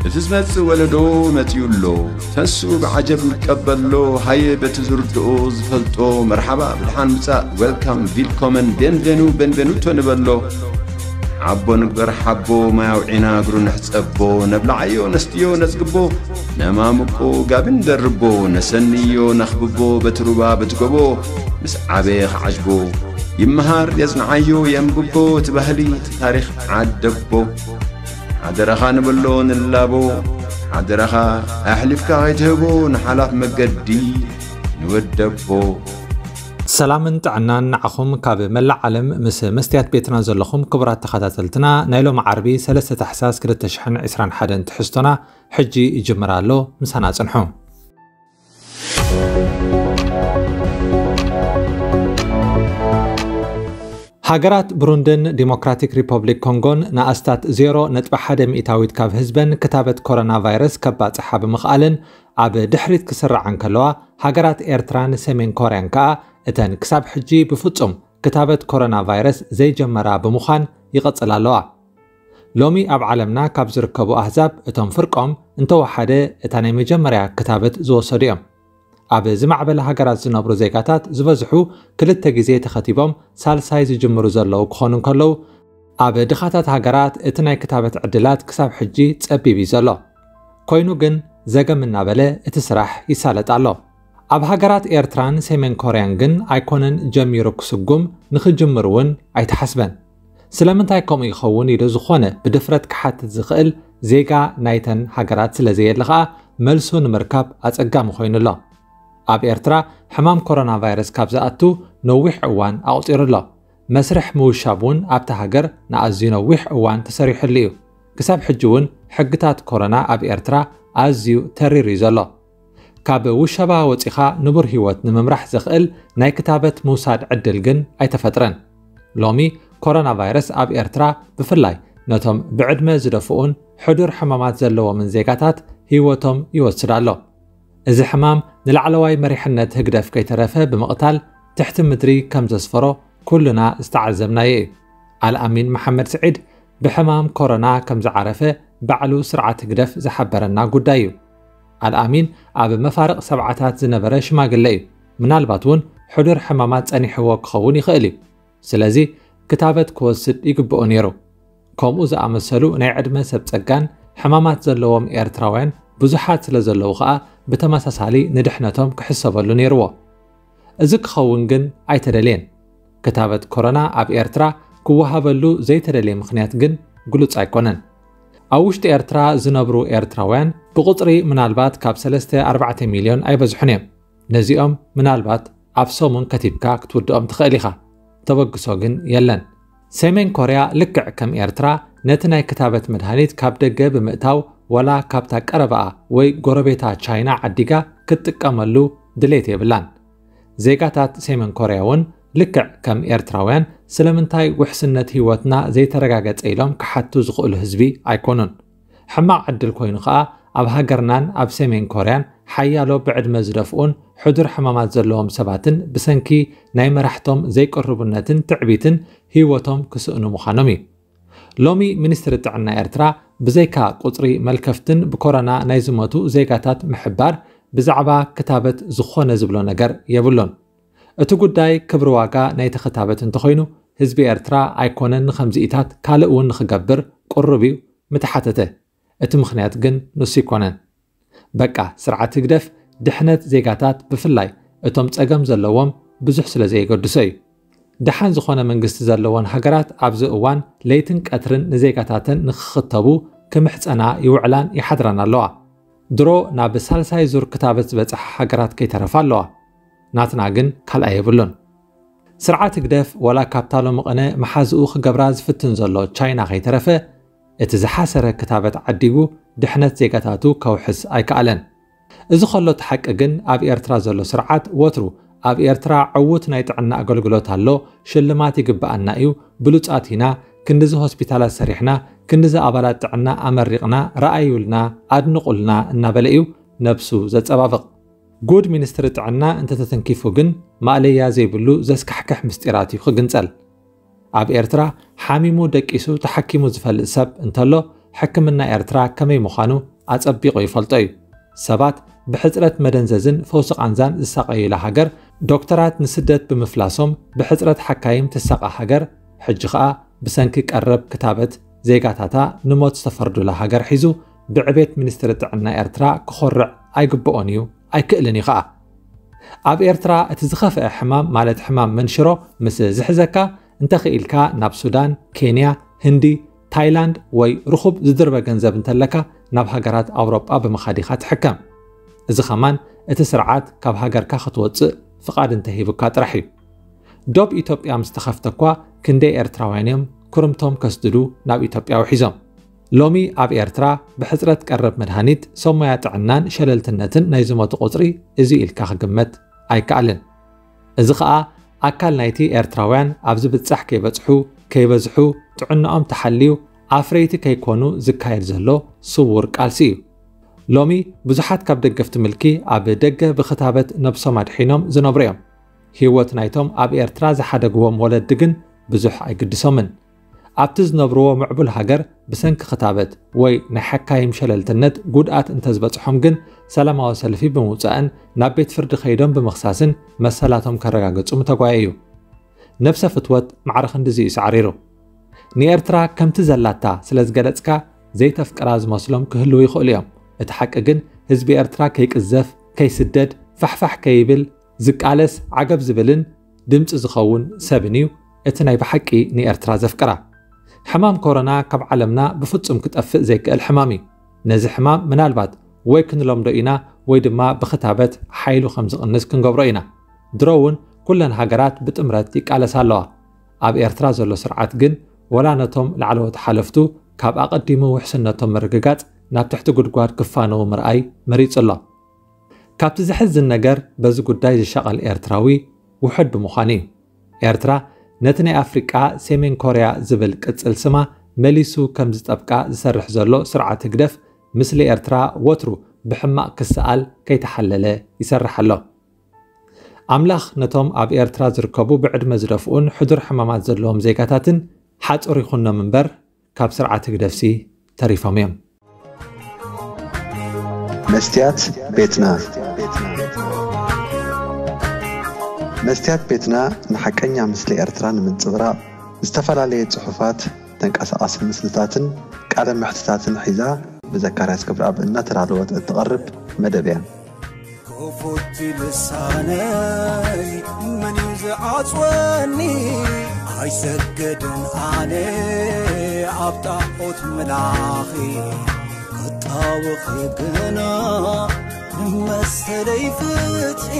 እቲ ዝመጽእ ወለዶ መጺኡ ኣሎ። ተንስኡ ብዓጀብ ንቀበሎ። ሃየ በቲ ዝርድኦ ዝፈልጦ መርሓባ ብድሓን ምጻእ፣ ዌልካም፣ ቪልኮመን፣ ቤንቬኑ፣ ቤንቬኑቶ ንበሎ። ሓቦ ንግበር ሓቦ፣ ማይ ኣውዒና እግሩ ንሕጸቦ። ነብልዓዮ ነስትዮ ነጽግቦ፣ ነማምቆ ጋቢ ንደርቦ። ነሰንዮ ነኽብቦ በቲ ሩባ በቲ ጎቦ። ምስ ዓበየ ክዓጅቦ፣ ይመሃር የጽንዓዮ የንብቦ። እቲ ባህሊ እቲ ታሪኽ ዓደቦ። ሓደራኻ ንበሎ ንላቦ፣ ሓደራኻ ኣሕሊፍካ ከይትህቦ ንሓላፍ መገዲ ንወደቦ። ሰላምን ጥዕናን ንዓኹም ካብ መላእ ዓለም ምስ መስትያት ቤትና ዘለኹም ክቡራት ተኸታተልትና። ናይ ሎሚ ዓርቢ ሰለስተ ታሕሳስ ክልተ ሽሕን ዕስራን ሓደን ትሕዝቶና ሕጂ ይጅምር ኣሎ። ምሳና ጽንሑ። ሃገራት ብሩንድን ዲሞክራቲክ ሪፐብሊክ ኮንጎን ንኣስታት ዜሮ ነጥቢ ሓደ ሚእታዊት ካብ ህዝበን ክታበት ኮሮና ቫይረስ ከባጽሓ ብምኽኣለን ኣብ ድሕሪት ክስርዓ እንከለዋ፣ ሃገራት ኤርትራን ሰሜን ኮርያን ከኣ እተን ክሳብ ሕጂ ብፍጹም ክታበት ኮሮና ቫይረስ ዘይጀመራ ብምዃን ይቐጽላ ኣለዋ። ሎሚ ኣብ ዓለምና ካብ ዝርከቡ ኣህዛብ እቶም ፍርቆም እንተወሓደ እታ ናይ መጀመርያ ክታበት ዝወሰዱ እዮም። ኣብ ዝማዕበለ ሃገራት ዝነብሩ ዜጋታት ዝበዝሑ ክልተ ግዜ ተኸቲቦም ሳልሳይ ዝጅምሩ ዘለዉ ክኾኑ እንከለዉ፣ ኣብ ድኻታት ሃገራት እቲ ናይ ክታበት ዕድላት ክሳብ ሕጂ ጸቢብ እዩ ዘሎ። ኮይኑ ግን ዘገም እናበለ እቲ ስራሕ ይሳለጥ ኣሎ። ኣብ ሃገራት ኤርትራን ሰሜን ኮርያን ግን ኣይኮነን ጀሚሩ ክስጉም፣ ንኽጅምር እውን ኣይተሓስበን። ስለምንታይ ከምኡ ይኸውን ኢሉ ዝኾነ ብድፍረት ክሓትት ዝኽእል ዜጋ ናይተን ሃገራት ስለ ዘየለ ኸኣ፣ መልሱ ንምርካብ ኣጸጋሚ ኮይኑ ኣሎ። ኣብ ኤርትራ ሕማም ኮሮና ቫይረስ ካብ ዝኣቱ ነዊሕ እዋን ኣቑጺሩ ኣሎ። መስርሕ ምውሻብ እውን ኣብታ ሃገር ንኣዝዩ ነዊሕ እዋን ተሰሪሑሉ እዩ። ክሳብ ሕጂ እውን ሕግታት ኮሮና ኣብ ኤርትራ ኣዝዩ ተሪር እዩ ዘሎ። ካብ ውሸባ ወጺኻ ንቡር ህይወት ንምምራሕ ዘኽእል ናይ ክታበት ምውሳድ ዕድል ግን ኣይተፈጥረን። ሎሚ ኮሮና ቫይረስ ኣብ ኤርትራ ብፍላይ ነቶም ብዕድመ ዝደፍኡን ሕዱር ሕማማት ዘለዎምን ዜጋታት ህይወቶም ይወስድ ኣሎ። እዚ ሕማም ንላዕለዋይ መሪሕነት ህግደፍ ከይተረፈ ብምቕታል ትሕቲ ምድሪ ከም ዘስፈሮ ኩልና ዝተዓዘብናዮ እዩ። ኣልኣሚን መሓመድ ስዒድ ብሕማም ኮሮና ከም ዝዓረፈ ባዕሉ ስርዓት ህግደፍ ዝሓበረና ጉዳይ እዩ። ኣልኣሚን ኣብ መፋርቕ ሰብዓታት ዝነበረ ሽማግለ እዩ። ምናልባት እውን ሕዱር ሕማማት ጸኒሕዎ ክኸውን ይኽእል እዩ። ስለዚ ክታበት ክወስድ ይግብኦ ነይሩ። ከምኡ ዝኣመሰሉ ናይ ዕድመ ሰብ ጸጋን ሕማማት ዘለዎም ኤርትራውያን ብዙሓት ስለ ዘለዉ ኸኣ ብተመሳሳሊ ንድሕነቶም ክሕሰበሉ ነይርዎ። እዚ ክኸውን ግን ኣይተደልየን። ክታበት ኮሮና ኣብ ኤርትራ ክወሃበሉ ዘይተደልየ ምኽንያት ግን ግሉጽ ኣይኮነን። ኣብ ውሽጢ ኤርትራ ዝነብሩ ኤርትራውያን ብቑጽሪ ምናልባት ካብ ሰለስተ ኣርባዕተ ሚልዮን ኣይበዝሑን እዮም። ነዚኦም ምናልባት ኣብ ሰሙን ከቲብካ ክትውድኦም ትኽእል ኢኻ። ተበግሶ ግን የለን። ሰሜን ኮርያ ልክዕ ከም ኤርትራ ነቲ ናይ ክታበት መድሃኒት ካብ ደገ ብምእታው ዋላ ካብታ ቀረባኣ ወይ ጎረቤታ ቻይና ዓዲጋ ክትጥቀመሉ ድሌት የብላን። ዜጋታት ሰሜን ኮርያ እውን ልክዕ ከም ኤርትራውያን ስለምንታይ ውሕስነት ህይወትና ዘይተረጋገጸ ኢሎም ክሓቱ ዝኽእሉ ህዝቢ ኣይኮኑን። ሕማቕ ዕድል ኮይኑ ኸኣ ኣብ ሃገርናን ኣብ ሰሜን ኮርያን ሓያሎ ብዕድመ ዝደፍኡን ሕዱር ሕማማት ዘለዎም ሰባትን ብሰንኪ ናይ መራሕቶም ዘይቅርቡነትን ትዕቢትን ህይወቶም ክስእኑ ምዃኖም እዩ። ሎሚ ሚኒስትሪ ጥዕና ኤርትራ ብዘይካ ቁጽሪ መልከፍትን ብኮሮና ናይ ዝሞቱ ዜጋታት ምሕባር ብዛዕባ ክታበት ዝኾነ ዝብሎ ነገር የብሉን። እቲ ጉዳይ ክብሪ ዋጋ ናይቲ ክታበት እንተኾይኑ ህዝቢ ኤርትራ ኣይኮነን ንኸምዚኢታት ካልእ እውን ንኽገብር ቅሩብ እዩ ምተሓተተ። እቲ ምኽንያት ግን ንሱ ኣይኮነን። በቃ ስርዓት ህግደፍ ድሕነት ዜጋታት ብፍላይ እቶም ጸገም ዘለዎም ብዙሕ ስለ ዘየገድሶ እዩ። ደሓን ዝኾነ መንግስቲ ዘለወን ሃገራት ኣብዚ እዋን ለይትን ቀትርን ንዜጋታተን ንኽኽተቡ ክምሕጸና ይውዕላን ይሓድራን ኣለዋ። ድሮ ናብ ሳልሳይ ዙር ክታበት ዝበጽሓ ሃገራት ከይተረፋ ኣለዋ። ናትና ግን ካልኣይ የብሉን። ስርዓት ህግደፍ ዋላ ካብታ ሎሚ ቅነ መሓዝኡ ክገብራ ዝፍትን ዘሎ ቻይና ከይተረፈ እቲ ዝሓሰረ ክታበት ዓዲጉ ድሕነት ዜጋታቱ ከውሕስ ኣይከኣለን። እዚ ከሎ እቲ ሓቂ ግን ኣብ ኤርትራ ዘሎ ስርዓት ወትሩ ኣብ ኤርትራ ዕዉት ናይ ጥዕና ኣገልግሎት ኣሎ፣ ሽልማት ይግብኣና እዩ፣ ብሉጻት ኢና፣ ክንድዚ ሆስፒታላት ሰሪሕና፣ ክንድዚ ኣባላት ጥዕና ኣመሪቕና፣ ረኣዩልና፣ ኣድንቑልና እናበለ እዩ ነብሱ ዘጸባብቕ። ጉድ ሚኒስትሪ ጥዕና እንተተተንኪፉ ግን ማእለያ ዘይብሉ ዘስካሕክሕ ምስጢራት እዩ ክግንጸል። ኣብ ኤርትራ ሓሚሙ ደቂሱ ተሓኪሙ ዝፈልጥ ሰብ እንተሎ ሕክምና ኤርትራ ከመይ ምዃኑ ኣጸቢቑ ይፈልጦ እዩ። ሰባት ብሕጽረት መደንዘዝን ፈውሲ ቃንዛን ዝሳቐዩላ ሃገር፣ ዶክተራት ንስደት ብምፍላሶም ብሕጽረት ሓካይም ትሳቐ ሃገር፣ ሕጂ ኸኣ ብሰንኪ ቀረብ ክታበት ዜጋታታ ንሞት ዝተፈርዱላ ሃገር ሒዙ ብዕቤት ሚኒስትሪ ጥዕና ኤርትራ ክኾርዕ ኣይግብኦን እዩ፣ ኣይክእልን እዩ ኸኣ። ኣብ ኤርትራ እቲ ዝኸፍአ ሕማም ማለት ሕማም መንሽሮ ምስ ዝሕዘካ፣ እንተኽኢልካ ናብ ሱዳን፣ ኬንያ፣ ህንዲ፣ ታይላንድ ወይ ርኹብ ዝድርበ ገንዘብ እንተለካ ናብ ሃገራት ኣውሮጳ ብምኻድ ኢኻ ትሕከም። እዚ ኸማን እቲ ስርዓት ካብ ሃገርካ ክትወጽእ ፍቓድ እንተሂቡካ ጥራሕ እዩ። ዶብ ኢትዮጵያ ምስ ተኸፍተ እኳ ክንደይ ኤርትራውያን እዮም ኩርምቶም ከስድዱ ናብ ኢትዮጵያ ውሒዞም። ሎሚ ኣብ ኤርትራ ብሕጽረት ቀረብ መድሃኒት፣ ሰብ ሞያ ጥዕናን ሸለልትነትን ናይ ዝሞቱ ቁጽሪ እዚ ኢልካ ክግመት ኣይከኣልን። እዚ ኸኣ ኣካል ናይቲ ኤርትራውያን ኣብ ዝብጻሕ ከይበጽሑ፣ ከይበዝሑ፣ ጥዕናኦም ተሓልዩ ኣፍረይቲ ከይኮኑ ዝካየድ ዘሎ ስዉር ቃልሲ እዩ። ሎሚ ብዙሓት ካብ ደገፍቲ ምልኪ ኣብ ደገ ብኽታበት ነብሶም ኣድሒኖም ዝነብሩ እዮም። ህይወት ናይቶም ኣብ ኤርትራ ዝሓደግዎም ወለዲ ግን ብዙሕ ኣይግድሶምን። ኣብቲ ዝነብርዎ ምዕቡል ሃገር ብሰንኪ ክታበት ወይ ናይ ሓካይም ሸለልትነት ጉድኣት እንተዝበጽሖም ግን ሰላማዊ ሰልፊ ብምውጻእን ናብ ቤት ፍርዲ ከይዶም ብምኽሳስን መሰላቶም ከረጋግጹ ምተጓየ እዩ። ነብሰ ፍትወት ማዕረ ክንድዚ እዩ ሳዕሪሩ። ንኤርትራ ከምቲ ዘላታ ስለ ዝገለጽካ ዘይተፍቅራ ዝመስሎም ክህልዉ ይኽእሉ እዮም። እቲ ሓቂ ግን ህዝቢ ኤርትራ ከይቅዘፍ፣ ከይስደድ፣ ፋሕፋሕ ከይብል ዝቃለስ ዓገብ ዝብልን ድምጺ ዝኸውን ሰብን እዩ እቲ ናይ ብሓቂ ንኤርትራ ዘፍቅራ። ሕማም ኮሮና ካብ ዓለምና ብፍጹም ክጠፍእ ዘይክእል ሕማም እዩ። ነዚ ሕማም ምናልባት ወይ ክንለምዶ ኢና ወይ ድማ ብኽታበት ሓይሉ ከም ዝቕንስ ክንገብሮ ኢና። ድሮ እውን ኩለን ሃገራት ብጥምረት ይቃለሳ ኣለዋ። ኣብ ኤርትራ ዘሎ ስርዓት ግን ወላ ነቶም ላዕለዎት ሓለፍቱ ካብ ኣቐዲሙ ውሕስነቶም ምርግጋጽ ናብ ትሕቲ ጉድጓድ ክፋነዉ ምርኣይ መሪጹ ኣሎ። ካብቲ ዘሕዝን ነገር በዚ ጉዳይ ዝሻቐል ኤርትራዊ ውሑድ ብምዃኑ እዩ። ኤርትራ ነቲ ናይ ኣፍሪቃ ሰሜን ኮርያ ዝብል ቅጽል ስማ መሊሱ ከም ዝጠብቃ ዝሰርሕ ዘሎ ስርዓት ህግደፍ፣ ምስሊ ኤርትራ ወትሩ ብሕማቕ ክሰኣል ከይተሓለለ ይሰርሕ ኣሎ። ኣምላኽ ነቶም ኣብ ኤርትራ ዝርከቡ ብዕድመ ዝደፍኡን ሕዱር ሕማማት ዘለዎም ዜጋታትን ሓጹር ይኹኖም እምበር፣ ካብ ስርዓት ህግደፍሲ ተሪፎም እዮም። መስትያት ቤትና። መስትያት ቤትና ንሓቀኛ ምስሊ ኤርትራ ንምንጽብራቕ ዝተፈላለየ ጽሑፋት፣ ተንቀሳቓሲ ምስልታትን ቃለ መሕትታትን ሒዛ ብዘካርያስ ገብረኣብ እናተዳለወት እትቐርብ መደብ እያ። ክፉት ልሳነይ መን እዩ ዝዓጽወኒ? ኣይሰግድን ኣነ ኣብ ጣዖት ምላኺ፣ ክጣወኺ ግና መሰለይ ፍትሒ።